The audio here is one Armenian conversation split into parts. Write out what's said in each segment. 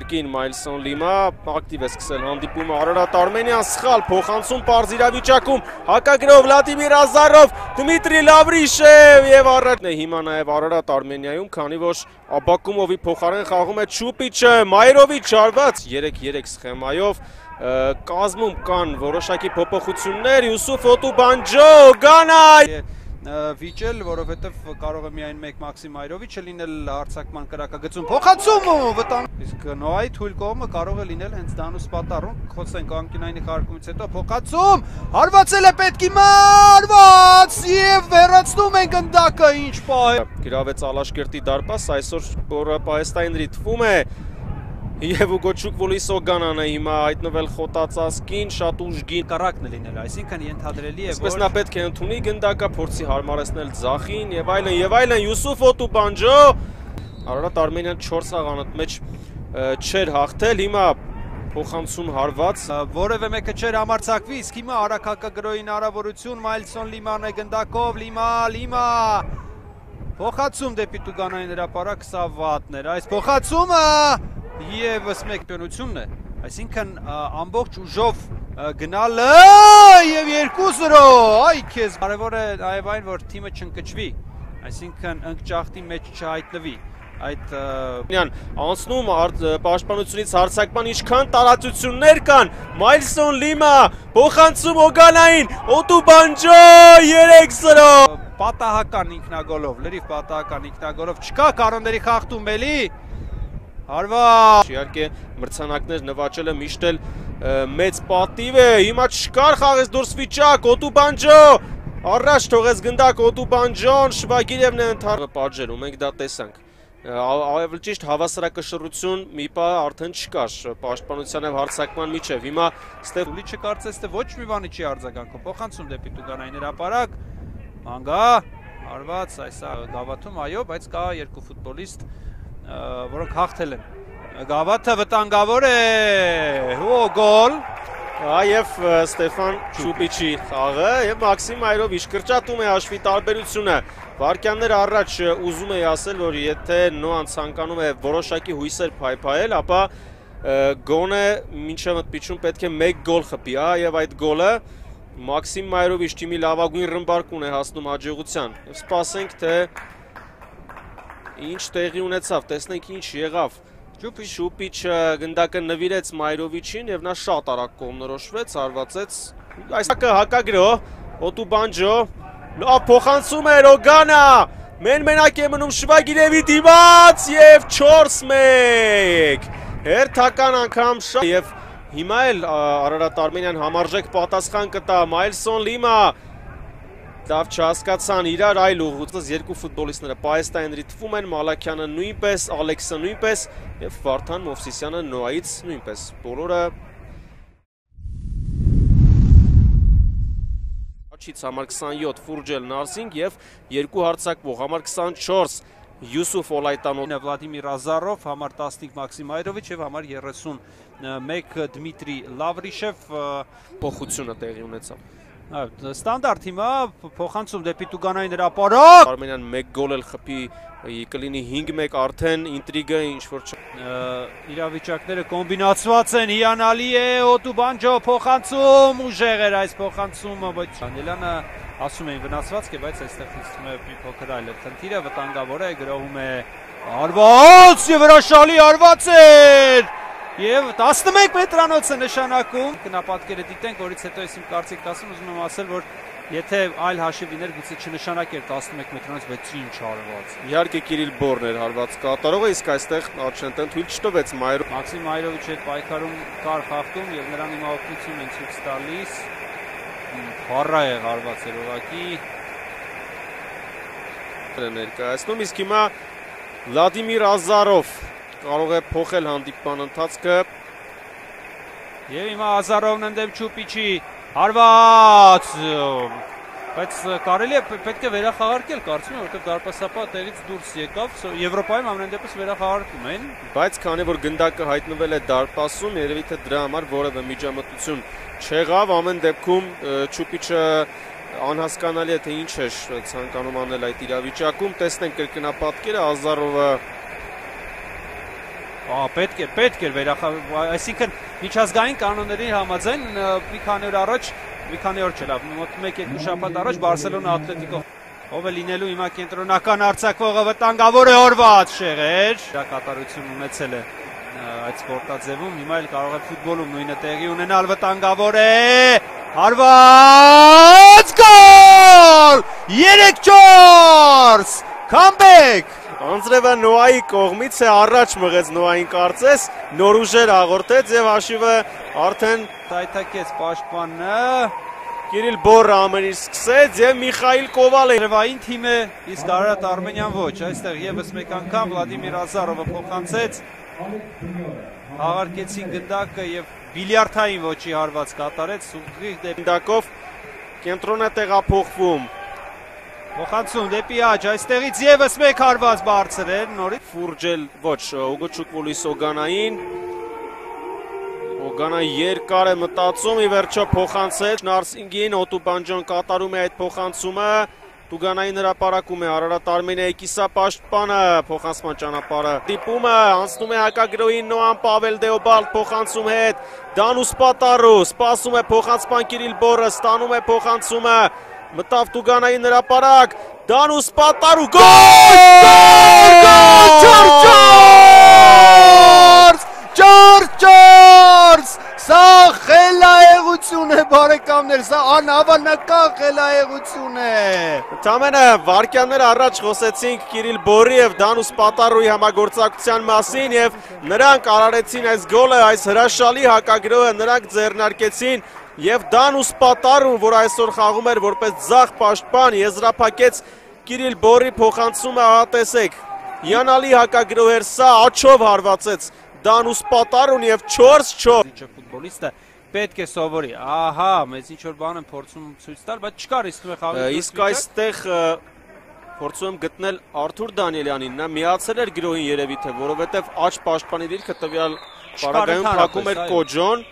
Կրկին Մայլսոն Լիմա ակտիվ է սկսել հանդիպումը Արարատ Արմենյան սխալ փոխանցում պարզ իրավիճակում հակագրով Վլադիմիր Ազարով Դմիտրի Լավրիշև եւ առաջ հիմա նաեւ Արարատ Արմենիայում քանի որ Աբակումովի փոխարեն խաղում է Չուպիչը Մայրովիչ արված 3-3 սխեմայով կազմում կան որոշակի փոփոխություններ Յուսուֆ Օտուբանջո Գանա վիճել, որովհետև կարող է միայն մեկ Մաքսիմ Այրովիչը լինել հարցակման կրակագծում փոխանցում վտանգ իսկ Նոայի թույլ կողմը կարող է լինել հենց Դանուս Պատառուն խոսենք անկյունայինի խաղարկումից հետո փոխանցում հարվածել է պետքի մարված եւ վերացնում են գնդակը ինչ պահ գրավեց Ալաշկերտի դարպաս այսօր որը Պահեստայինրի թվում է Եվ ուգոչուկ վոլիսո գանան է հիմա հայտնվել խոտածասկին, շատ ուժգին կարակն է լինել, այսինքն ենթադրելի է, որ նա պետք է ընդունի գնդակը, փորձի հարմարեցնել ձախին եւ այլն, Յուսուֆ Օտուբանջո Արարատ Արմենիան 4 խաղանոց մեջ չէր հաղթել, հիմա փոխանցում հարված, որևէ մեկը չէր համարձակվի, իսկ հիմա արաքակագրոյի հնարավորություն Մայլսոն Լիման է գնդակով, Լիմա փոխանցում դեպի Տուգանային հրապարակ, սա վատն էր, այս փոխանցումը Եվս մեկ պյոնությունն է, այսինքն ամբողջ ուժով գնալը և 2-0, այ կեզ կարևոր է նաև այն, որ թիմը չընկճվի, այսինքն ընկճախտի մեջ չհայտնվի, այդ անցնում պաշտպանությունից հարցակման ինչքան տարածություններ կան, Մայլսոն Լիմա, փոխանցում Օգանային, Օտուբանջո 3-0 Պատահական ինքնագոլով, լրիվ պատահական ինքնագոլով, չկա կանոնների խախտում էլի Հարված Իհարկե մրցանակներ նվաճելը միշտ էլ մեծ պատիվ է, հիմա չկար խաղեց դուրս վիճակ, Օտուբանջո առաջ թողեց գնդակ Օտուբանջոն, Շվագիրևն է ընդհանրը պատժելու, մենք դա տեսանք Ավելի ճիշտ հավասարակշռություն մի պահ արդեն չկար պաշտպանության եւ հարձակման միջև, հիմա Ստեփուլիչը կարծես թե ոչ մի բանի չի արձագանքում, փոխանցում դեպի Տուգանային հրապարակ, մանգա, հարված, այս գավաթում, այո, բայց կա երկու ֆուտբոլիստ որոնք հաղթել են Գավաթը վտանգավոր է գոլ Եվ Ստեփան Չուպիչի խաղը եւ Մաքսիմ Այրովիչ կրճատում է հաշվի տարբերությունը Վարքյաններ առաջ ուզում էի ասել որ եթե Նոան ցանկանում է որոշակի հույսեր փայփայել ապա գոնե մինչև ընդմիջում պետք է 1 գոլ խփի եւ այդ գոլը Մաքսիմ Այրովիչ թիմի լավագույն ռմբարկուն է հասնում հաջողության եւ սպասենք թե Ինչ տեղի ունեցավ, տեսնենք ինչ եղավ Շուպիչը գնդակը նվիրեց Մայրովիչին և նա շատ արագ կողմնորոշվեց, հարվածեց Այսակը հակագրո, Օտուբանջո, լավ փոխանցում էր Օգանա Մենակ է մնում Շվագիրևի դիմաց և 4-1 Հերթական անգամ շատ Եվ հիմա էլ Արարատ Արմենիան համարժեք պատասխան կտա Մայլսոն Լիմա Դավ չհասկացան իրար այլ ուղղությունից երկու ֆուտբոլիստները Պահեստայինրի թվում են Մալաքյանը նույնպես, Ալեքսը նույնպես եւ Վարդան Մովսիսյանը Նոայից նույնպես բոլորը Աչից համար 27 Ֆուրջել Նարսինգ եւ երկու հարցակվող համար 24 Յուսուֆ Օլայտանովն Վլադիմիր Ազարով համար 15 Մաքսիմ Այրովիչ եւ համար 31 Դմիտրի Լավրիշև փոխությունը տեղի ունեցավ Ստանդարտ հիմա փոխանցում դեպի Տուգանային հրապարակ Արմենիան 1 գոլ էլ խփի կլինի 5-1 արդեն ինտրիգը ինչ որ իրավիճակները կոմբինացված են հիանալի է Օտուբանջո փոխանցում ուժեղ էր այս փոխանցումը բայց Դանիելյանը ասում էին վնասված է բայց այստեղ թվում է մի փոքր այլ է խնդիրը վտանգավոր է գրոհում է հարված եւ հրաշալի հարված էր Եվ 11 մետրանոց է նշանակում Կնապատկերը դիտենք, որից հետո ես իմ կարծիքն ասում ուզում եմ ասել, որ եթե այլ հաշիվ լիներ գուցե չնշանակեր 11 մետրանոց, բայց ինչ հարված Իհարկե Կիրիլ Բորն էր հարված կատարողը, իսկ այստեղ Արջենտեն թույլ չտվեց Մաքսիմ Այրովիչի հետ պայքարում կար խախտում եւ նրան հիմա օգնություն են ցույց տալիս Խառա է հարված էր ուղղակի ներկայացնում, իսկ հիմա Վլադիմիր Ազարով կարող է փոխել հանդիպման ընթացքը Եվ հիմա Ազարովն ընդդեմ Չուպիչի հարված Բայց կարելի է պետք է վերախաղարկել կարծում եմ, որտեղ դարպասապահը տեղից դուրս եկավ, Եվրոպայում ամեն դեպս վերախաղարկում են։ Բայց քանի որ գնդակը հայտնվել է դարպասում, երևի թե դրա համար որևէ միջամտություն չեղավ, ամեն դեպքում Չուպիչը անհասկանալի է թե ինչ է ցանկանում անել այդ իրավիճակում, տեսնենք կրկնապատկերը Ազարովը Պետք էր այսինքն միջազգային կանոնների համաձայն մի քանի օր առաջ, մի քանի օր չէ, լավ, մոտ 1-2 շաբաթ առաջ Բարսելոնա Ատլետիկո ով է լինելու հիմա կենտրոնական արձակվողը վտանգավոր է օրված Շեղեր։ Դա կատարություն ունեցել է այդ սպորտաձևում, հիմա էլ կարող է ֆուտբոլում նույնը տեղի ունենալ, վտանգավոր է, հարված գոլ, 3-4, comeback։ Անձրևը Նոայի կողմից է առաջ մղեց Նոային կարծես, նոր ուժեր հաղորդեց եւ հաշիվը արդեն Տայթակեց պաշտպանը, Կիրիլ Բորը ամեն ինչ սկսեց եւ Միխայիլ Կովալը Երևային թիմը, իսկ Արարատ Արմենիան ոչ, այստեղ եւս մեկ անգամ Վլադիմիր Ազարովը փոխանցեց, հաղարկեցին գնդակը եւ բիլիարդային ոչի հարված կատարեց, ուղիղ դեպքով կենտրոնը տեղափոխվում։ Փոխանցում դեպի աջ, այստեղից եւս մեկ հարված բարձր էր, նորից Ֆուրջել ոչ, Ուգոչուկվոլիս Օգանային Օգանա երկար է մտածում, ի վերջո փոխանցեց Նարսինգին, Օտուբանջան կատարում է այդ փոխանցումը, Տուգանային հրապարակում է Արարատ Արմենիայի կիսապաշտպանը, փոխանցման ճանապարհը դիպումը, անցնում է հակագրոհին Նոան Պավել Դեոբալտ փոխանցում հետ, Դանուս Պատարու, սպասում է փոխանցման Կիրիլ Բորը, ստանում է փոխանցումը, մտավ Տուգանային հրապարակ, Դանուս Պատարու, Ջորջ, սա խելայեղություն է բարեկամներ, սա անհավանական խելայեղություն է։ Ընդամենը վարկյաններ առաջ խոսեցինք Կիրիլ Բորի եւ Դանուս Պատարուի համագործակցության մասին եւ նրանք արարեցին այս գոլը, այս հրաշալի հակագրոհը նրանք ձեռնարկեցին եւ Դանուս Պատարուն, որ այսօր խաղում էր որպես ձախ պաշտպան, եզրափակեց Կիրիլ Բորի փոխանցումը, տեսեք, հիանալի հակագրոհ էր սա, աչով հարվածեց Դանուս Պատարուն եւ 4-4 Ինչը ֆուտբոլիստը պետք է սովորի։ Ահա, մեծ ինչ որ բան են փորձում ցույց տալ, բայց չկար իսկ մի խաղի։ Իսկ այստեղ փորձում եմ գտնել Արթուր Դանիելյանին, նա միացել էր գրոհին երևի թե, որովհետեւ աջ պաշտպանի դիրքը տվյալ պարագայում փակում էր Կոջոն։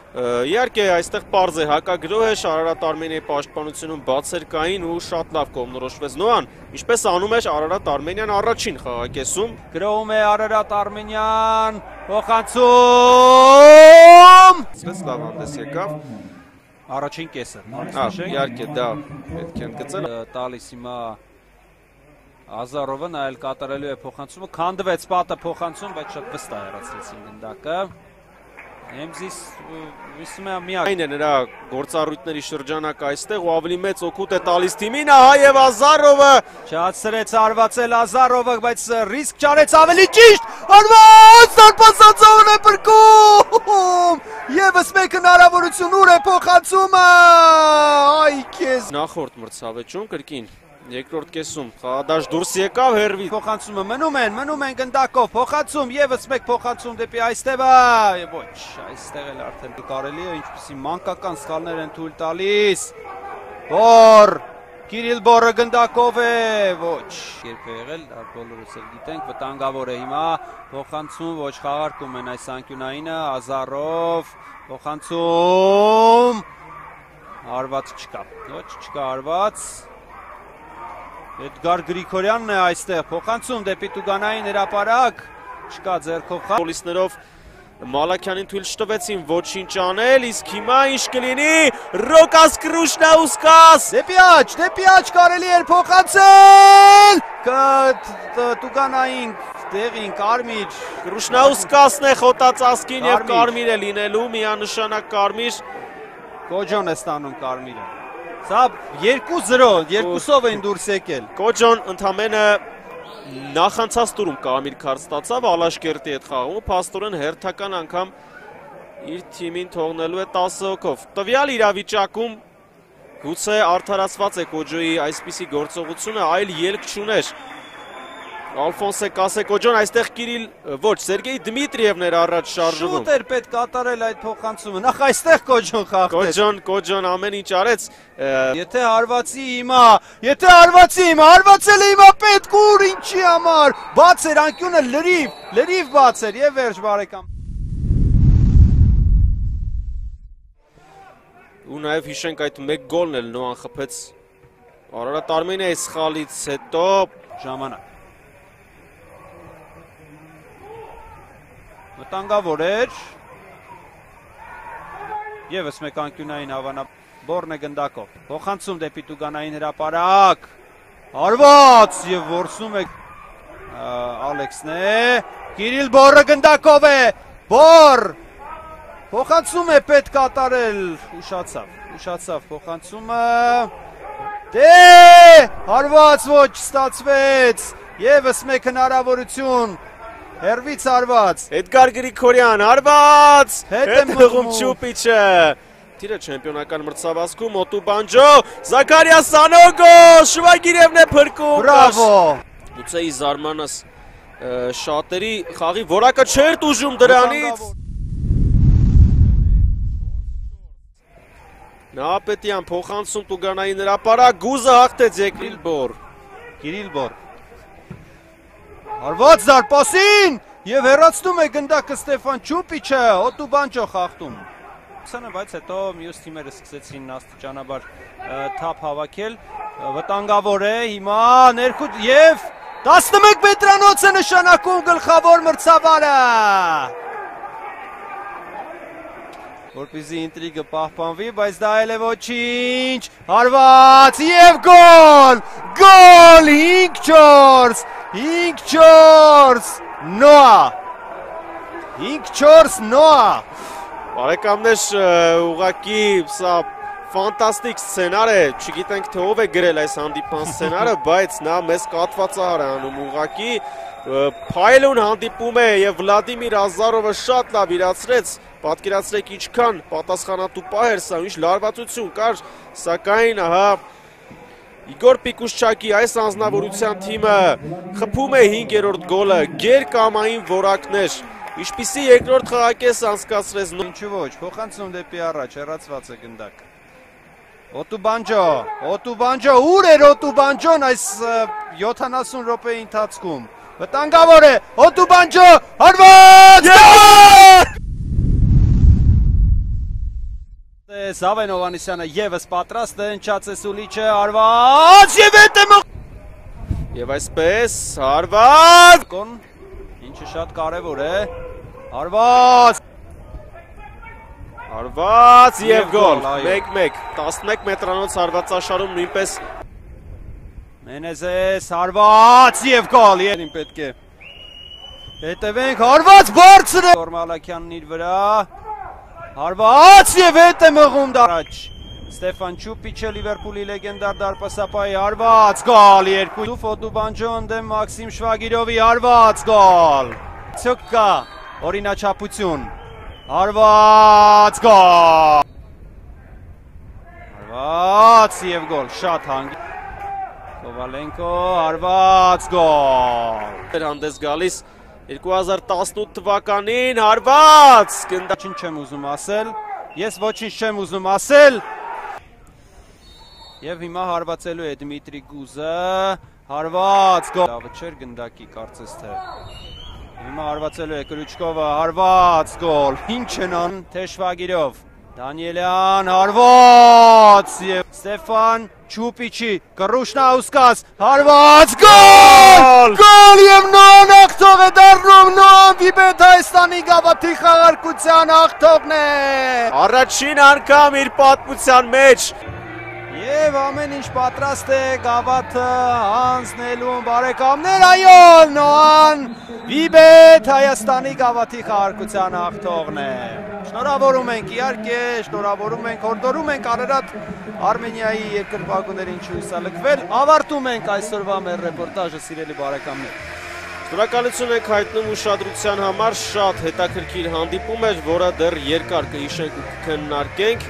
Իհարկե այստեղ պարզ է հակագրոհ է, Արարատ Արմենիայի պաշտպանությունում բացեր կային ու շատ լավ կողմնորոշվեց Նոան, ինչպես անում էր Արարատ Արմենիան առաջին խաղակեսում։ Գրոհում է Արարատ Արմենիան, փոխանցում։ Այսպես լավ հանդես եկավ։ Առաջին կեսը։ Իհարկե դա պետք է ընդգծել։ Տալիս հիմա Ազարովը նայել կատարելու է փոխանցումը, քանդվեց պատը փոխանցում, բայց շատ վստահ հեռացրեցին գնդակը։ Էմզիս վիսում է միակ։ Այն է նրա գործառույթների շրջանակ այստեղ ու ավելի մեծ օգուտ է տալիս թիմին, ահա եւ Ազարովը չհասցրեց արվածել Ազարովը, բայց ռիսկ չարեց ավելի ճիշտ, արված դարպասածովն է բրկում, եւս մեկ հնարավորություն ուր է փոխանցումը, այ քեզ։ Նախորդ մրցավեճում կրկին երկրորդ կեսում խաղադաշ դուրս եկավ հերվի փոխանցումը մնում են գնդակով փոխանցում եւս մեկ փոխանցում դեպի այստեղը ոչ այստեղ էլ արդեն կարելի է ինչպեսի մանկական սխալներ են թույլ տալիս Բոր Կիրիլ Բորը գնդակով է ոչ երբ է եղել բոլորս էլ գիտենք վտանգավոր է հիմա փոխանցում ոչ խաղարկում են այս անկյունայինը Ազարով փոխանցում հարված չկա ոչ չկա հարված Էդգար Գրիգորյանն է այստեղ փոխանցում դեպի Տուգանային հրապարակ չկա ձեռքով խաղ պոլիսներով Մալաքյանին թույլ չտվեցին ոչինչ անել իսկ հիմա ինչ կլինի Ռոկաս Կրուշնաուսկաս դեպի աջ կարելի էր փոխանցել Տուգանային տեղին Կարմիր Կրուշնաուսկասն է խոտած ասկին եւ Կարմիր է լինելու միանշանակ Կարմիր Կոջոն է ստանում Կարմիրը Սա 2-0, երկուսով էին դուրս եկել։ Կոջոն ընդամենը նախանցած տուրում Կարմիր քարտ ստացավ Ալաշկերտի հետ խաղում, փաստորեն հերթական անգամ իր թիմին թողնելու է 10 հոգով։ Տվյալ իրավիճակում գուցե արդարացված է Կոջոյի այսպիսի գործողությունը, այլ ելք չուներ։ Ալֆոնսե Կասեկոջոն այստեղ Կիրիլ ոչ Սերգեյ Դմիտրիևն էր առաջ շարժվում։ Շուտ էր պետք կատարել այդ փոխանցումը։ Նախ այստեղ Կոջոն խաղաց։ Կոջոն ամեն ինչ արեց։ Եթե հարվածի հիմա, հարվածել է հիմա պետք ուր ինչի համար։ Բաց էր անկյունը լրիվ բաց էր եւ վերջ բարեկամ։ Ու նաեւ հիշենք այդ մեկ գոլն էլ Նոան խփեց Արարատ Արմենիայի սխալից հետո ժամանակ վտանգավոր էր։ Եվս մեկ անկյունային հավանաբորն է գնդակով։ Փոխանցում դեպի Տուգանային հրապարակ։ Հարված եւ որսում է Ալեքսն է։ Կիրիլ Բորը գնդակով է։ Բոր փոխանցում է պետք կատարել։ Ուշացավ փոխանցումը։ Դե հարված ոչ ստացվեց։ Եվս մեկ հնարավորություն։ Հերվից հարված։ Էդգար Գրիգորյան հարված։ Հետ է մղում Չուպիչը։ Տիրը չեմպիոնական մրցավազքում Օտուբանջո, Զաքարիա Սանոգո, Շվագիրևն է փրկում։ Բրավո։ Գուցե ի զարմանաս շատերի խաղի որակը չէր տուժում դրանից։ Նահապետյան փոխանցում Տուգանային հրապարակ, գուզը հաղթեց Կիրիլ Բոր։ Հարված զարպասին եւ հեռացնում է գնդակը Ստեֆան Չուպիչը, Օտուբանջո խախտում։ Բայց հետո մյուս թիմերը սկսեցին աստիճանաբար թափ հավաքել, վտանգավոր է հիմա ներքուտ եւ 11 մետրանոց է նշանակում գլխավոր մրցավարը։ Որպեսզի ինտրիգը պահպանվի, բայց դա էլ է ոչինչ։ Հարված եւ գոլ! Գոլ 5-4 Նոա 5-4 Նոա։ Բարեկամներ, ուղղակի սա ֆանտաստիկ սցենար է, չգիտենք թե ով է գրել այս հանդիպման սցենարը, բայց նա մեզ կատվածահար է անում ուղղակի փայլուն հանդիպում է եւ Վլադիմիր Ազարովը շատ լավ իրացրեց, պատկերացրեք ինչքան պատասխանատու պահ էր սա, ինչ լարվածություն կար, սակայն ահա Իգոր Պիկուշչակի այս անձնավորության թիմը խփում է 5-րդ գոլը, գերկամային որակներ, ինչպիսի երկրորդ խաղակես անցկացրեց։ Ինչու ոչ, փոխանցում դեպի առաջ, հեռացված է գնդակ։ Օտուբանջո, ուր էր Օտուբանջոն այս 70 րոպեի ընթացքում։ Վտանգավոր է, Օտուբանջո, հարված! Զավեն Հովհաննիսյանը եւս պատրաստ է, ընչած է Սուլիչը, հարված եւ հետ է Եվ այսպես, հարված! Ինչը շատ կարևոր է, հարված! Հարված եւ գոլ, 1-1, 11 մետրանոց հարվածաշարում նույնպես Մենեզես, հարված եւ գոլ, երին պետք է հետևենք, հարված բարձր է Մալաքյանն իր վրա, հարված եւ հետ է մղում դարաջ Ստեֆան Չուպիչը Լիվերպուլի լեգենդար դարպասապայի հարված գոլ, 2 Օտուբանջոն դեմ Մաքսիմ Շվագիրովի հարված գոլ, ցոկկա օրինաչափություն Հարված գոլ! Հարված եւ գոլ, շատ հանգի Կովալենկո, հարված գոլ! Հանդես գալիս 2018 թվականին, հարված! Ոչինչ չեմ ուզում ասել, ես ոչինչ չեմ ուզում ասել Եվ հիմա հարվածելու է Դմիտրի Գուզը, հարված գոլ! Լավը չէր գնդակի կարծես թե Հիմա հարվածելու է Կրուչկովը, հարված գոլ, ինչ են ան Թեշվագիրով, Դանիելյան, հարված և Ստեֆան Չուպիչի, Կռուշնաուսկաս, հարված գոլ, գոլ և նոան աղթող է դարնում, նոան վիբետ Հայաստանի գավաթի խաղարկության աղթողն է, առաջին անգամ իր պատմության մեջ, Եվ ամեն ինչ պատրաստ է գավաթը հանձնելուն բարեկամներ, այո, նոան վիբետ Հայաստանի գավաթի խաղարկության աղթողն է։ Շնորհավորում ենք իհարկե, շնորհավորում ենք, հորդորում ենք Արարատ Արմենիայի երկրպագուներին չհուսալքվել, ավարտում ենք այսօրվա մեր ռեպորտաժը սիրելի բարեկամներ։ Շնորհակալություն ենք հայտնում ուշադրության համար, շատ հետաքրքիր հանդիպում էր, որը դեռ երկար կհիշենք ու կքննարկենք։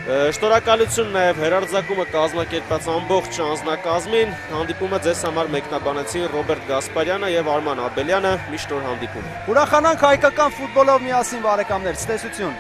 Շնորհակալություն նաև հերարձակումը կազմակերպած ամբողջ անձնակազմին, հանդիպումը ձեզ համար մեկնաբանեցին Ռոբերտ Գասպարյանը եւ Արման Աբելյանը, մի շնորհ հանդիպում։ Ուրախանանք հայկական ֆուտբոլով միասին բարեկամներ, ցտեսություն։